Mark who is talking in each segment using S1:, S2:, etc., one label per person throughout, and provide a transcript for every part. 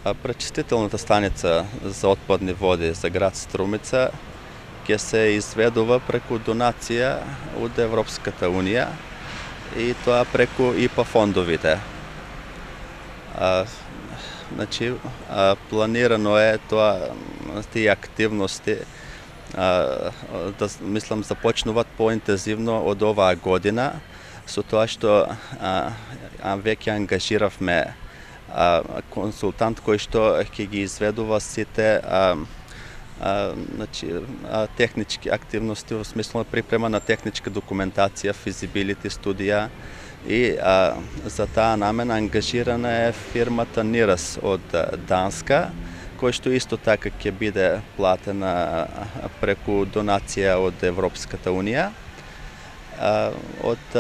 S1: Пречистителната станица за отпадни води за град Струмица ќе се изведува преку донација од Европската Унија и тоа преку ИПА фондовите. Планирано е тоа, тие активности мислам започнуваат поинтензивно од оваа година, со тоа што веќе ангажиравме консултант кој што ќе ги изведува сите технички активности во смисло припрема на техничка документација, физибилити студија и за таа намена ангажирана е фирмата Нирас од Данска, кој што исто така ќе биде платена преку донација од Европската Унија. Од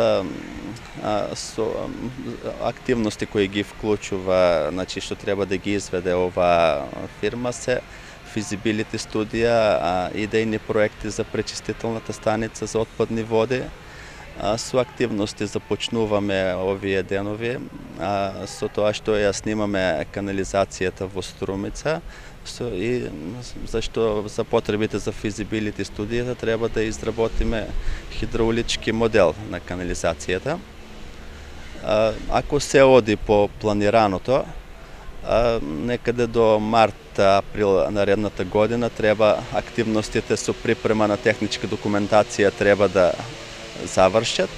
S1: активности кои ги вклучува, што треба да ги изведе оваа фирма се физибилити студија, идејни проекти за пречистителната станица за отпадни води. Со активности започнуваме овие денови, со тоа што ја снимаме канализацијата во Струмица, и зашто за потребите за физибилити студијата треба да изработиме хидраулички модел на канализацијата. Ако се оди по планираното, некаде до март-април наредната година треба активностите со припрема на техничка документација треба да завршат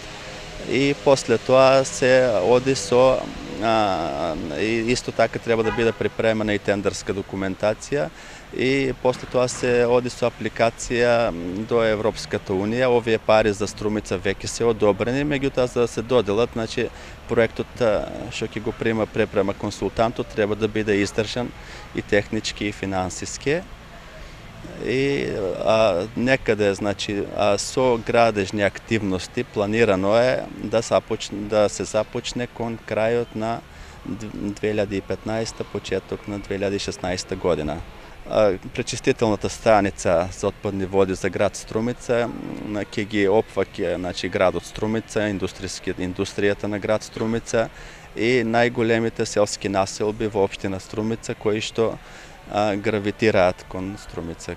S1: и после тоа се оди со исто така треба да биде припремена и тендерска документација и после тоа се оди со апликација до Европската Унија. Овие пари за Струмица веќе се одобрени, меѓутоа за да се доделат, проектот што ќе го препрема консултантот треба да биде издржан и технички и финансиски. И некаде, со градежни активности планирано е да се започне кон крајот на 2015, почеток на 2016 година. Пречистителната станица за отпадни води за град Струмица ќе ги опфаќа градот Струмица, индустријата на град Струмица и најголемите селски населби во општина Струмица кои што гравитираат кон Струмица